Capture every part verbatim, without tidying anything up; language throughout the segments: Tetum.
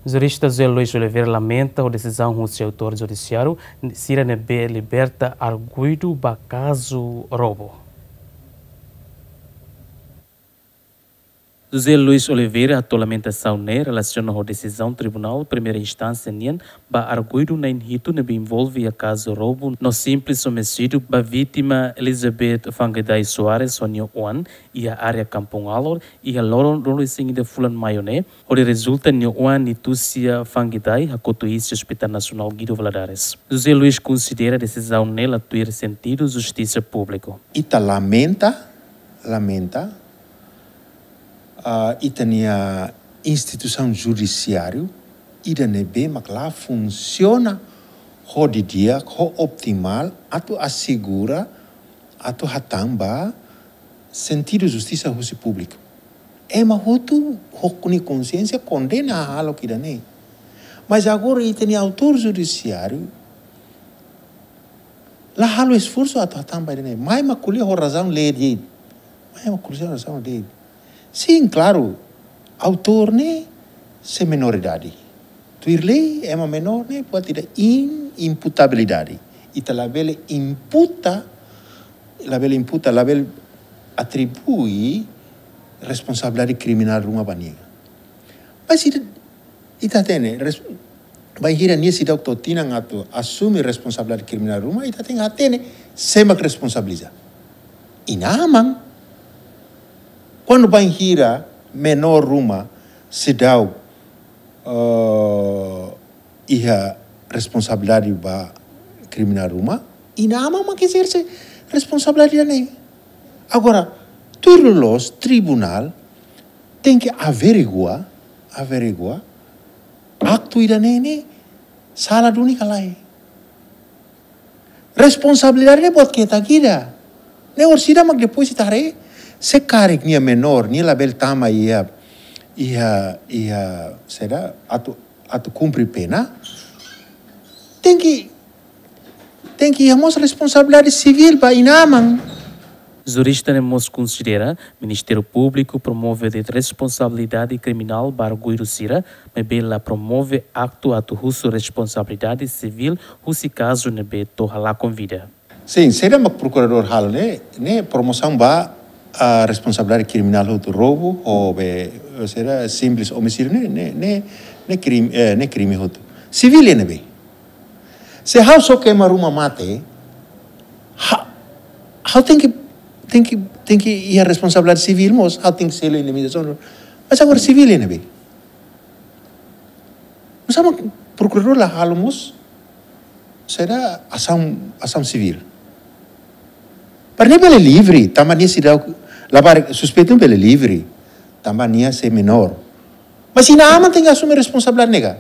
Jurista José Luis Oliveira lamenta ho desizaun husi autór judisiáriu sira ne'ebé liberta arguidu ba kazu roubu. José Luis Oliveira hato'o lamentasaun ne'e relasiona ho desizaun Tribunál Primeira Instánsia nian ba arguidu na'in hitu ne'ebé envolve iha kazu roubu no simples omisidiu ba vítima Elizabeth Fangiday Soares ho nia oan iha área Kampung Alor iha loron ruanulu-resin-ida fulan Maiu ne'e, hodi rezulta nia oan Nitucia Fangiday hakotu iis iha Hospital Nasionál Guido Valadares. José Luis konsidera desizaun ne'e la tuir sentidu justisa públiku. Ita lamenta, lamenta, ah, ita-nia instituisaun judisiáriu ida ne'ebé mak la funsiona ho didi'ak, ho optimál, atu asegura, atu hatán ba sentidu justisa husi públiku. Ema hotu ho nia konsiénsia kondena hahalok ida-ne'e. Mas agora ita-nia autór judisiáriu la halo esforsu atu hatán ba ida-ne'e. Mai mak ko'alia ho razaun lee de'it. Mai mak ko'alia ho razaun lee de'it. Sin, klaru, autór ne'e sei menoridade. Tuir lei, ema menór ne'e buat ida inimputabilidade. Ita labele imputa, labele imputa, labele atribui responsabilidade kriminál ruma ba nia. Mas ita, ita hatene, res-, bainhira nia seidauk to'o tinan atu asume responsabilidade kriminál ruma, ita tenke hatene sé mak responsabiliza. Inan-aman. Kuandu bainhira menór ruma seidauk, eh, iha responsabilidade ba kriminál ruma, inan-aman mak ezerse responsabilidade ne'e. Agora, tuir loloos, tribunál tenke averigua, averigua, aktu ida-ne'e ne'e sala duni ka lae. Responsabilidade ne'e buat ketak ida. Ne'e orsida mak depois ita haree, se karik nia menór, nia labele tama iha, iha, iha, saida, atu, atu kumpre pena. Tenke, tenke iha mós responsabilidade sivíl ba inan-aman. Jurista ne'e mós konsidera Ministériu Públiku promove de'it responsabilidade kriminál ba arguidu sira, maibé la promove aktu atu husu responsabilidade sivíl husi kazu ne'ebé to'o halakon vida. Sin, saida mak prokuradór halo ne'e, ne'e promosaun ba, ah, responsabilidade kriminál hotu, roubu, ho be, saida, simples omisidiu ne'e, ne'e, ne'e, ne'e krim-, eh, ne'e krime hotu. Sivíl iha ne'ebé? Se ha'u soke ema ruma mate, ha-, ha'u tenke, tenke, tenke iha responsabilidade sivíl mós, ha'u tenke selu indemnizasaun. Mas agora sivíl iha ne'ebé? Nusá mak prokuradór la halo mós, saida, asaun, asaun sivíl? Para nia bele livre, tanba nia seidauk, labarik suspeitu bele livre, tanba nia sei menór. Mas inan-aman tenke asume responsabilidade ne'e ka?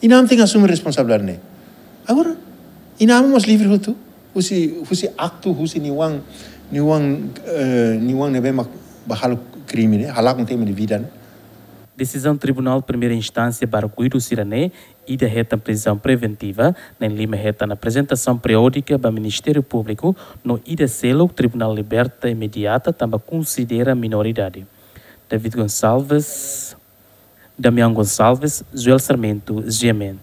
Inan-aman tenke asume responsabilidade ne'e. Agora, inan-aman mós livre hotu, husi, husi aktu, husi nia oan, nia oan, eh, nia oan ne'ebé mak bá halo krime ne'e, halakon tema de vida ne'e. Desizaun Tribunál Primeira Instánsia ba arguidu sira-ne'e, ida hetan prizaun preventiva, na'in-lima hetan aprezentasaun periódika ba Ministériu Públiku, no ida seluk tribunál liberta imediata tanba konsidera menoridade. David Gonçalves, Damião Gonçalves, Joel Sarmento, G M N.